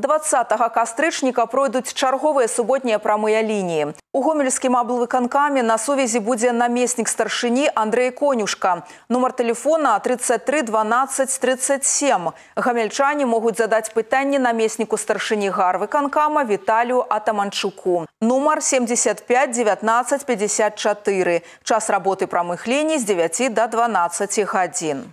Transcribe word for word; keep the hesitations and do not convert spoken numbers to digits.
дваццатага кастрычніка пройдуць чарговыя суботнія прамыя лініі. У гомельскім аблвыканкаме на сувязі будзе намеснік старшыні Андрэй Конюшка. Нумар тэлефона тридцать три дванадцать тридцать семь. Гамельчане могуць задаць пытанні намесніку старшыні гарвыканкама Віталію Атаманчуку. Нумар семьдесят пять девятнадцать пятьдесят четыре. Час работы прамых ліній з девяти до дванадцати гадзін.